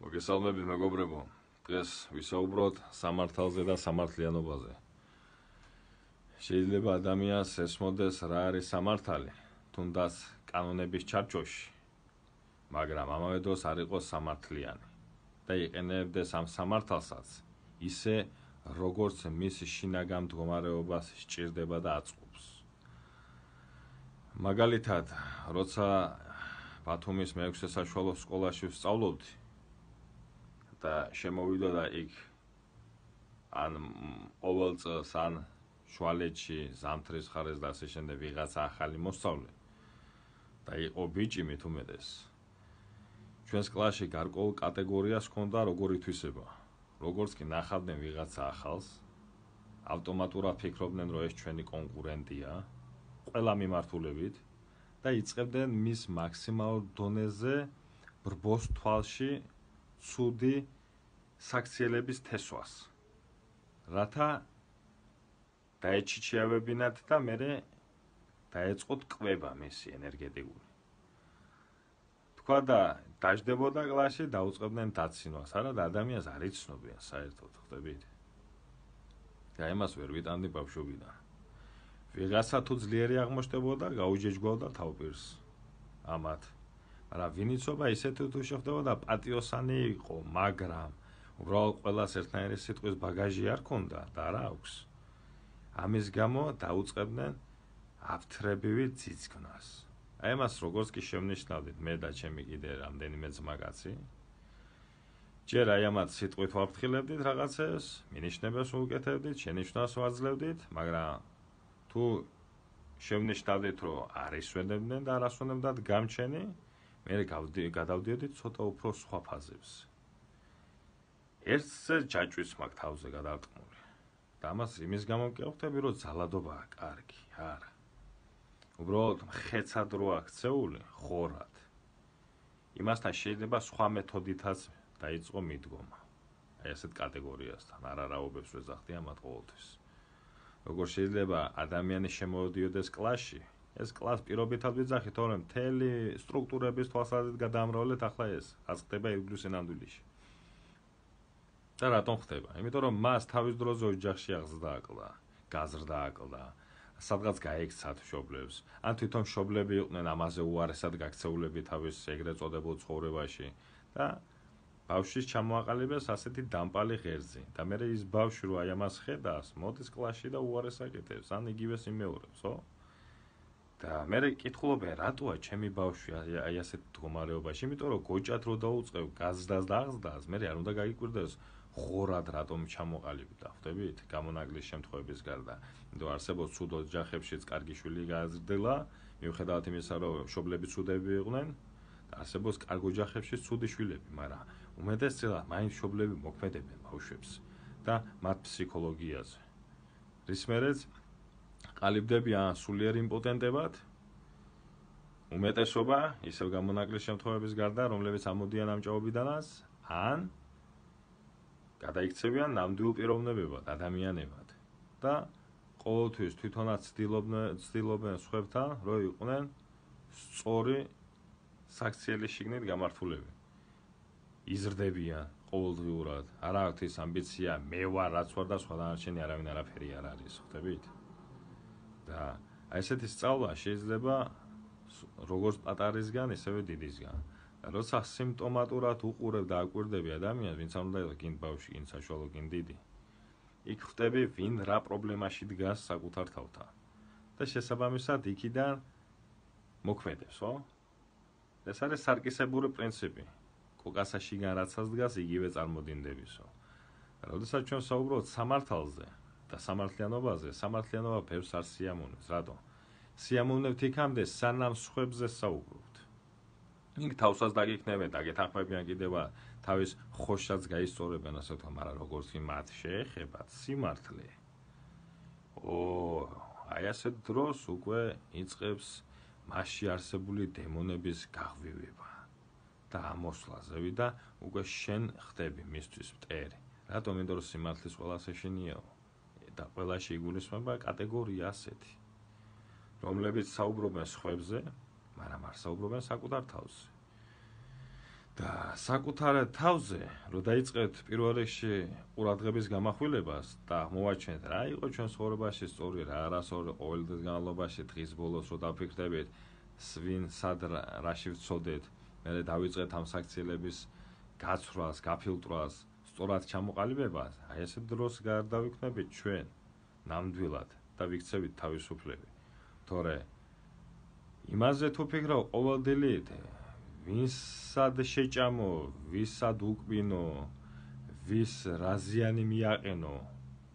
მოგესალმებით მეგობრებო, დღეს ვისაუბროთ სამართალზე და სამართლიანობაზე. შეიძლება ადამიანს ესმოდეს რა არის სამართალი, თუნდაც კანონების ჩარჩოში, მაგრამ ამავე დროს არ იყოს სამართლიანი და იყენებდეს ამ სამართალსაც ისე, როგორც მის შინაგან მდგომარეობას სჭირდება და აწყობს. მაგალითად, როცა ბათუმის მე-6 საშუალო სკოლაში ვსწავლობდი და შემოვიდოდა იქ ან ყოველ წელს ან შუალედში ზამთრის ხარეს და ასე შემდეგ ვიღაცა ახალი მოსწავლე და იყო ბიჭი მით უმეტეს. ჩვენს კლასში გარკვეულ კატეგორიას ჰქონდა როგორ ითვისება. როგორც კი ნახავდნენ ვიღაცა ახალს, ავტომატურად ფიქრობდნენ, რომ ეს ჩვენი კონკურენტია, ყველა მიმართულებით და იწყებდნენ მის მაქსიმალურ დონეზე ბრბოს თვალში ცუდი საქციელების თესვას. რათა დაეჩიჩიავებინათ და მერე დაეწყოთ კვება მისი ენერგეტიკული. თქვა და დაждდებოდა კლასში, დაუწყებდნენ დაცინვას, არა და ადამიანს არ იცნობიან საერთოდ, ხვდებით? და იმას ვერ ვიტანდი ბავშვობიდან. ვიღაცა თუ ძლიერი აღმოჩნდებოდა, გაუჯეჯგვავდა თავპირს ამათ. მაგრამ ვინ იცოდა ისეთი თუ შეხვდებოდა პატიოსანი იყო, მაგრამ უბრალოდ ყველას ერთნაირი სიტყვის ბაგაჟი არ ქონდა და არა აქვს. ამის გამო დაუწყებდნენ აფთრებივი ძიძგნას. აი ამას როგორც კი შევნიშნავდით მე და ჩემი კიდე რამდენიმე ძმაკაცი, ჯერ აი ამათ სიტყვით ვაფრთხილებდით რაღაცებს, მინიშნებას ვუკეთებდით, შენიშვნას ვაძლევდით, მაგრამ თუ შევნიშნავდით, რომ არ ისვენებდნენ და არ ასვენებდათ გამჩენი, მე გადავდიოდით ცოტა უფრო სხვა ფაზებს. ერთზე ჯაჭვიც მაქვს თავზე გადარტყმული. და ამას იმის გამო მკევხდები, რომ ძალადობაა კარგი, არა. უბრალოდ მხეცად რო აქცეული, ხორად. იმასთან შეიძლება სხვა მეთოდითაც დაიწყო მიდგომა. აი ასეთ კატეგორიასთან, არაობებს ვეძახდი ამათ ყოველთვის. როგორ შეიძლება ადამიანი შემოვიდიოდეს კლასში, ეს კლას პირობითად ვიძახით, თორემ მთელი სტრუქტურების თვალსაზრისით გადაამრავლეთ ახლა ეს, რაც ხდება ირგვლივ სინამდვილეში. და რატომ ხდება? იმიტომ რომ მას თავის დროზე ოჯახში აღზრდა აკლდა, გაზრდა აკლდა, სადღაც გაექცა მშობლებს, ან თვითონ მშობლები იყვნენ ამაზე უარესად გაქცეულები თავის ეგრეთ წოდებულ ცხოვრებაში და ბავშვის ჩამოაყალიბეს ასეთი დამპალი ღერძი და მე ის ბავშვი რო აი ამას ხედავს, მოდის კლასში და უარეს აკეთებს, ან იგივეს იმეორებს, ხო? და მე კითხულობენ, რატოა ჩემი ბავშვი აი ასეთ მდგომარეობაში? იმიტომ რომ გოჭად რო დაუწყებ გაზრდას და აღზრდას, მე არ უნდა გაიკვირდეს ხორად რატომ ჩამოყალიბდა, ხვდებით? გამონაკლის შემთხვევების გარდა. იმიტომ არსებობს ცუდ ოჯახებშიც კარგი შვილი გააზრდილა, მიუხედავად იმისა, რომ მშობლები ცუდები იყვნენ, და არსებობს კარგ ოჯახებში ცუდი შვილები, მაგრამ უმეტესწილად მაინც მშობლები მოქმედებენ ბავშვებს და მათ ფსიქოლოგიაზე. რის მერეც ყალიბდებიან სულიერ იმპოტენტებად, უმეტესობა ისევ გამონაკლის შემთხვევების გარდა, რომლებიც ამოდიან ამ ჭაობიდანაც, ან გადაიქცევიან ნამდვილ პიროვნებებად, ადამიანებად და ყოველთვის თვითონაც ცდილობენ სხვებთან, რომ იყვნენ სწორი საქციელის შიგნით გამართულები. იზრდებიან ყოველდღიურად, არ აქვთ ის ამბიცია, მე ვარ რაც ვარ და სხვა დანარჩენი არავინ არაფერი არ არის, ხვდებით? და აი ესეთი სწავლა შეიძლება როგორც პატარისგან, ისევე დიდისგან. და როცა სიმპტომატურად უყურებ და აკვირდები ადამიანს, ვინც არ უნდა იყოს გინ ბავშვი, გინ საშუალო, გინ დიდი, იქ ხვდები, ვინ რა პრობლემაში დგას საკუთარ თავთან. და შესაბამისად იქიდან მოქმედებს, ხო? ეს არის სარკისებური პრინციპი. კოკასა შიგან რაცაც დგას, იგივე წარმოდინდებისო. როდესაც ჩვენ საუბრობთ სამართალზე და სამართლიანობაზე, სამართლიანობა ბევრს არ სიამოვნებს. რატომ? სიამოვნებთ იქამდე, სანამ სხვებზე საუბრობთ. იქ თავსაც დაგიქნებენ, დაგეთანხმებიან კიდევ თავის ხოშსაც გაისწორებენ, ასე ვთქვა, მაგრამ როგორც კი მათ შეეხებათ სიმართლე. აი ასეთ დროს უკვე იწყებს მასში არსებული დემონების გაღვივება და ამოსვლაზევი და უკვე შენ ხდები მისთვის მტერი. რატომ? იმიტომ რომ სიმართლის ყველას ეშინიაო და ყველაში იგულისხმება კატეგორია ასეთი, რომლებიც საუბრობენ სხვებზე, მაგრამ არ საუბრობენ საკუთარ თავზე. და საკუთარ თავზე რო დაიწყეთ პირველ რიგში ყურადღების გამახვილებას და მოვაჩვენეთ რა იყო ჩვენ ცხოვრებაში სწორი რა არასწორი ყოველდღის განმავლობაში დღის ბოლოს რო დაფიქრდებით ვინ სად რაში ვცოდეთ მერე დავიწყეთ ამ საქციელების გაცვლას, გაფილტრვას, სწორად ჩამოყალიბებას, აი ესე დროს გარდავიქმნებით ჩვენ ნამდვილად და ვიქცევით თავისუფლები. თორე იმაზე თუ ფიქრობ ყოველდღიურად ვისად შეჭამო, ვისად უკბინო, ვის რაზიანი მიაყენო,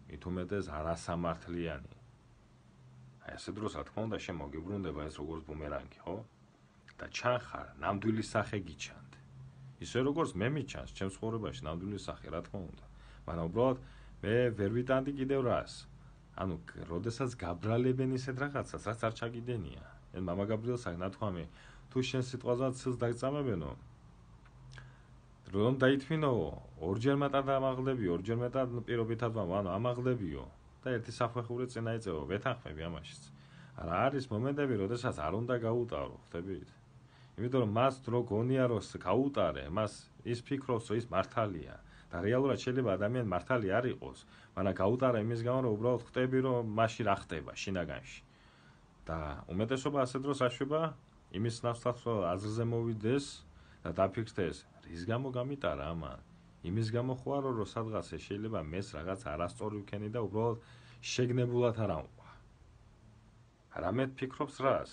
მით უმეტეს არასამართლიანი. აი ესე დროს რა თქმა უნდა შემოგიბრუნდება ეს როგორც ბუმერანგი, ხო? და ჩანხარ ნამდვილი სახე გიჩანთ. ისე როგორც მე მიჩანს ჩემს ცხოვრებაში ნამდვილი სახე, რა თქმა უნდა. მაგრამ უბრალოდ მე ვერ ვიტანდი კიდევ რას. ანუ, როდესაც გაბრალებენ ისეთ რაღაცას, რაც არ ჩაგიდენია. ეს მამა გაბრიელს აქ ნათქვამი, თუ შენ სიტყვაზე ცილს დაგწამებენო, რომ დაითმინო, ორჯერ მეტად ამაღლებიო, ორჯერ მეტად პირობითად ანუ ამაღლებიო და ერთი საფეხური წინა იწევო, ვეთანხმები ამაშიც. არა არის მომენტები, როდესაც არ უნდა გაუტარო, ხდებით? იმიტომ რომ მას დრო გონია რომ გაუტარე, მას ის ფიქრობს რომ ის მართალია და რეალურად შეიძლება ადამიანი მართალი არ იყოს, მაგრამ გაუტარა იმის გამო რომ უბრალოდ ხვდები რომ მასში რა ხდება შინაგანში. და უმეტესობა ასე დროს აშვება იმის ნაცვლად რომ აზრზე მოვიდეს და დაფიქრდეს რის გამო გამიტარა ამან. იმის გამო ხო არა რომ სადღაც შეიძლება მეს რაღაც არასწორი ვქენი და უბრალოდ შეგნებულად არ ამყვა. რამე ფიქრობს რას?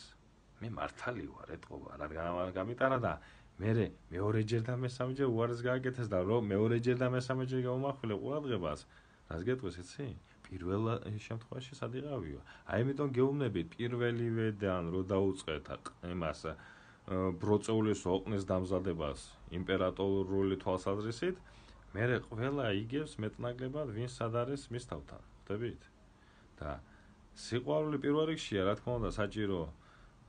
მე მართალი ვარ, ეტყობა, რა გამიტარა და მე მეორეჯერ და მესამეჯერ უარეს გააკეთეს და რომ მეორეჯერ და მესამეჯერ გაუმახვილე ყურადღებას, რას გეტყვის იცი? პირველ შემთხვევაში სად იყავიო? აი ამიტომ გეუბნებით პირველივედან რომ დაუწყეთ იმას ბროწეულის ოყნის დამზადებას იმპერატორული თვალსაზრისით, მერე ყველა იგებს მეტნაკლებად ვინ სად არის მის თავთან, ხვდებით? და სიყვარული პირველ რიგშია, რა თქმა უნდა, საჭირო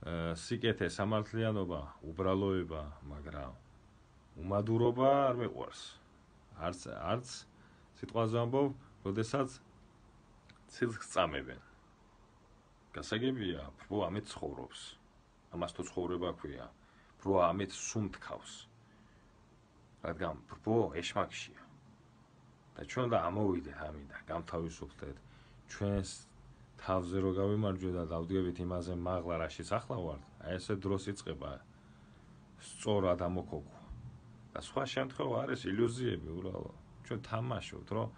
სიკეთე, სამართლიანობა, უბრალოება, მაგრამ უმადურობა არ მეყვარს. არც სიტყვაზე ამბობ, როდესაც ცილს გწამებენ. გასაგებია, პრო ამით ცხოვრობს. ამას თუ ცხოვრება ქვია, პრო ამით სუნთქავს. რადგან პრო ეშმაკშია. და ჩვენ და ამოვიდეთ ამიდან, გამთავისუფლდეთ ჩვენს თავზე რო გავიმარჯვეთ და დავდგებით იმაზე მაღლა რაშიც ახლა ვართ, აი ესე დროს იწყება სწორად ამოქოქვა. და სხვა შემთხვევა არის ილუზიები უბრალოდ. ჩვენ თამაშობთ, რომ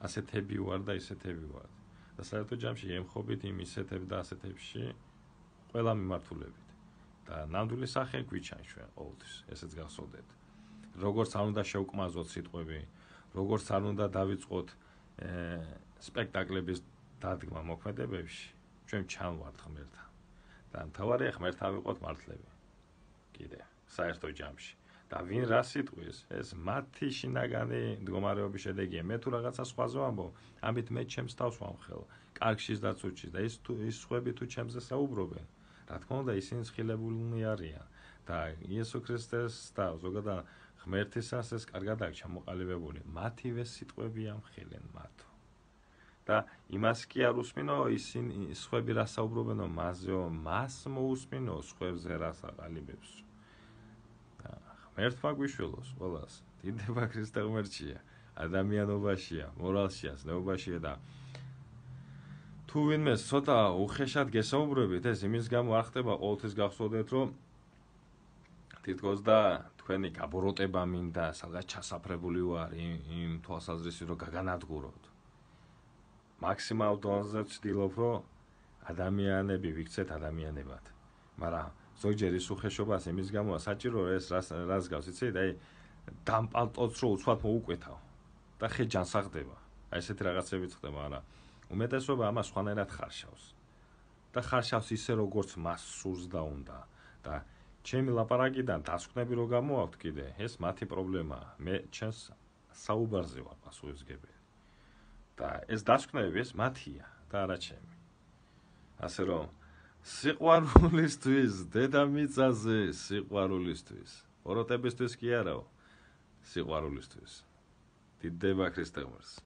ასეთები ვარ და ისეთები ვარ. და საერთო ჯამში ემხობით იმ ისეთებ და ასეთებში ყველა მიმართულებით. და ნამდვილი სახე გვიჩანს ჩვენ ყოველთვის, ესეც გახსოვდეთ. როგორც არ უნდა შევკმაზოთ სიტყვები, როგორც არ უნდა დავიწყოთ სპექტაკლების დადგმა მოქმედებებში, ჩვენ ჩანვართ ღმერთთან. და მთავარია ღმერთთან ვიყოთ მართლები. კიდე, საერთო ჯამში. და ვინ რა სიტყვის, ეს მათი შინაგანი მდგომარეობის შედეგია. მე თუ რაღაცა სხვაზე ვამბობ, ამით მე ჩემს თავს ვამხელ, კარგშიც და ცუდშიც და ის სხვები თუ ჩემზე საუბრობენ, რა თქმა უნდა, ისინი სხილებულნი არიან. და იესო ქრისტეს და ზოგადად ღმერთისას ეს კარგად აქვს ჩამოყალიბებული. მათივე სიტყვები ამხელენ მათო. და იმას კი არ უსმინო, ისინი სხვები რა საუბრობენო, მასზეო, მას მოусმინო, სხვებზე რა საყალიბებს. ღმერთმა გვიშველოს ყველას. დიდება ქრისტე ღმერთშია, ადამიანობაშია, მორალშია, ზნეობაშია და თუ ვინმე ცოტა უხეშად გესაუბრებით, ეს იმის გამო არ ხდება ყოველთვის გახსოვდეთ, რომ თითქოს და თქვენი გაბოროტება მინდა, სადღაც ჩასაფრებული ვარ იმ თვალსაზრისით, რომ გაგანადგუროთ. მაქსიმალ დონეზე ვცდილობ, რომ ადამიანები ვიქცეთ ადამიანებად. მაგრამ ზოგჯერ ის უხეშობას იმის გამოა საჭირო ეს რას გავს, იცით? აი დამპალტოც რო უცბად მოუკვეთავ და ხე ჯანსაღდება. აი ესეთი რაღაცებიც ხდება, არა. უმეტესობა ამას სხვანაირად ხარშავს. და ხარშავს ისე როგორც მას სურს და უნდა. და ჩემი ლაპარაკიდან დასკვნები რო გამოაქვთ კიდე, ეს მათი პრობლემაა. მე ჩემს საუბარზე ვარ პასუხისმგებელი. და ეს დასკვნები ეს მათია და არა ჩემი. ასე რომ სიყვარულისთვის, დედამიწაზე სიყვარულისთვის, ოროტებისთვის კი არაო, სიყვარულისთვის. დიდება ქრისტე ღმერთს.